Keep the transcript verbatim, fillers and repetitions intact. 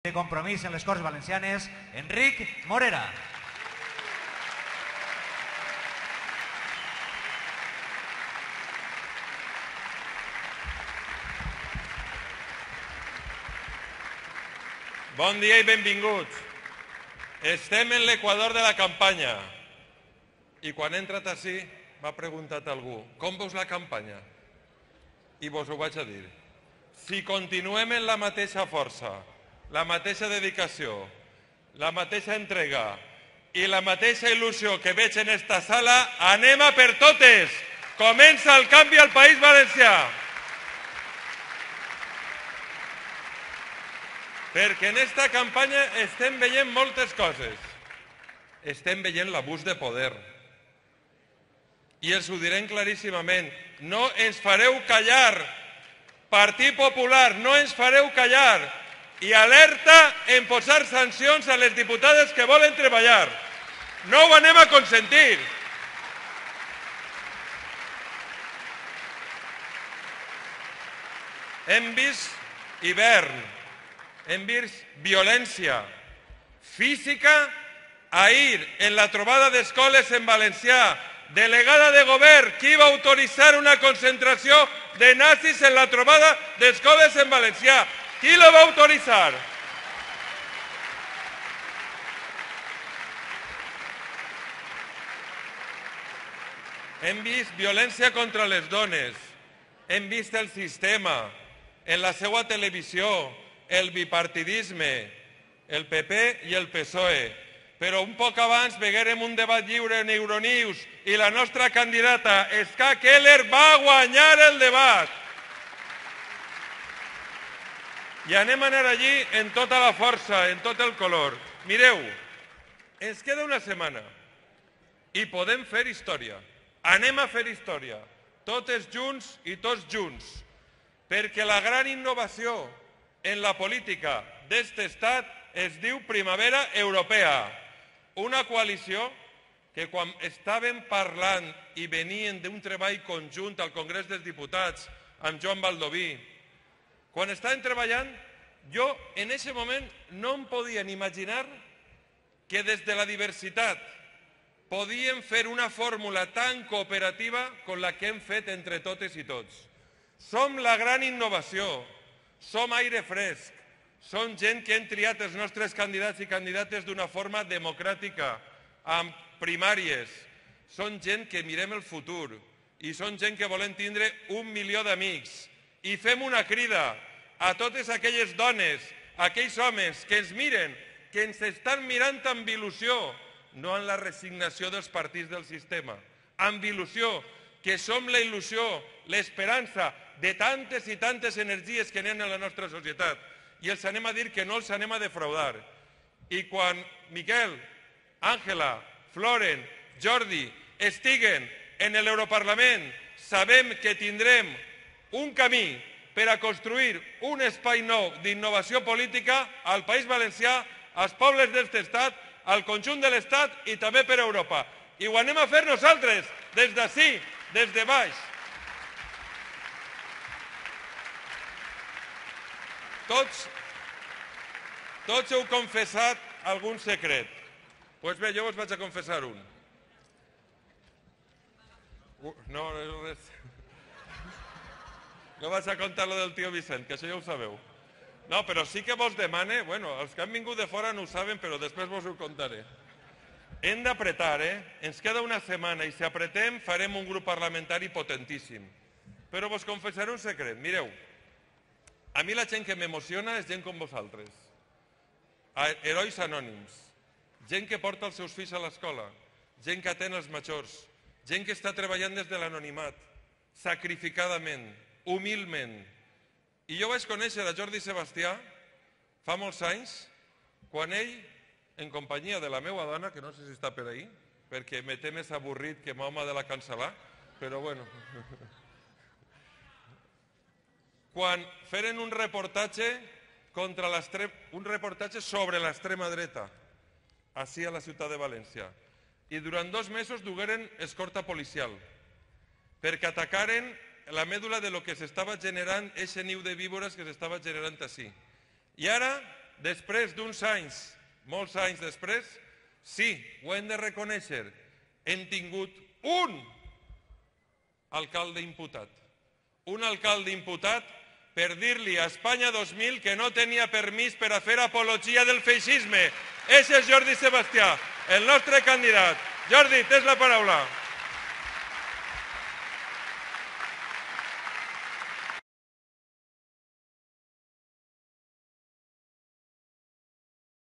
de Compromís en les Corts Valencianes, Enric Morera. Bon dia i benvinguts. Estem en l'equador de la campanya. I quan he entrat ací m'ha preguntat algú, com veus la campanya? I vos ho vaig a dir. Si continuem en la mateixa força, la mateixa dedicació, la mateixa entrega i la mateixa il·lusió que veig en esta sala, anem a per totes! Comença el canvi al País Valencià! Perquè en esta campanya estem veient moltes coses. Estem veient l'abús de poder. I els ho direm claríssimament. No ens fareu callar. Partit Popular, no ens fareu callar. I alerta en posar sancions a les diputades que volen treballar. No ho anem a consentir. Hem vist hivern. Hem vist violència física. Ahir, en la trobada d'escoles en valencià, delegada de govern, qui va autoritzar una concentració de nazis en la trobada d'escoles en valencià? Qui la va autoritzar? Hem vist violència contra les dones. Hem vist el sistema, en la seva televisió, el bipartidisme, el P P i el P S O E. Però un poc abans veguérem un debat lliure en Euronews i la nostra candidata, Ska Keller, va guanyar el debat. I anem a anar allí en tota la força, en tot el color. Mireu, ens queda una setmana i podem fer història. Anem a fer història, totes junts i tots junts, perquè la gran innovació en la política d'est estat es diu Primavera Europea, una coalició que quan estàvem parlant i venien d'un treball conjunt al Congrés dels Diputats amb Joan Baldoví, quan estàvem treballant, jo en aquest moment no em podia ni imaginar que des de la diversitat podíem fer una fórmula tan cooperativa com la que hem fet entre totes i tots. Som la gran innovació, som aire fresc, som gent que hem triat els nostres candidats i candidates d'una forma democràtica, amb primàries. Som gent que mirem el futur i som gent que volem tindre un milió d'amics. I fem una crida a totes aquelles dones, a aquells homes que ens miren, que ens estan mirant amb il·lusió, no amb la resignació dels partits del sistema, amb il·lusió, que som la il·lusió, l'esperança de tantes i tantes energies que n'hi ha en la nostra societat. I els anem a dir que no els anem a defraudar. I quan Miquel, Àngela, Floren, Jordi estiguen en l'Europarlament, sabem que tindrem un camí per a construir un espai nou d'innovació política al País Valencià, als pobles d'este estat, al conjunt de l'estat i també per Europa. I ho anem a fer nosaltres, des d'ací, des de baix. Tots, tots heu confessat algun secret. Doncs bé, jo us vaig a confessar un. Uh, no, no és res. No vaig a contar lo del tio Vicent, que això ja ho sabeu. No, però sí que vos demane, bueno, els que han vingut de fora no ho saben, però després vos ho contaré. Hem d'apretar, eh? Ens queda una setmana i si apretem farem un grup parlamentari potentíssim. Però vos confessaré un secret. Mireu, a mi la gent que m'emociona és gent com vosaltres. Herois anònims. Gent que porta els seus fills a l'escola. Gent que atén els majors. Gent que està treballant des de l'anonimat. Sacrificadament. Humilment. I jo vaig conèixer a Jordi Sebastià fa molts anys, quan ell, en companyia de la meva dona, que no sé si està per ahí, perquè me té més avorrit que Mahoma de la cancel·lar, però bueno... quan feren un reportatge contra un reportatge sobre l'extrema dreta, així a la ciutat de València. I durant dos mesos dugueren escorta policial, perquè atacaren la mèdula de lo que s'estava generant, eixe niu de víbores que s'estava generant així. I ara després d'uns anys, molts anys després, sí, ho hem de reconèixer, hem tingut un alcalde imputat. Un alcalde imputat per dir-li a Espanya dos mil que no tenia permís per a fer apologia del feixisme. Ese és Jordi Sebastià, el nostre candidat. Jordi, tens la paraula.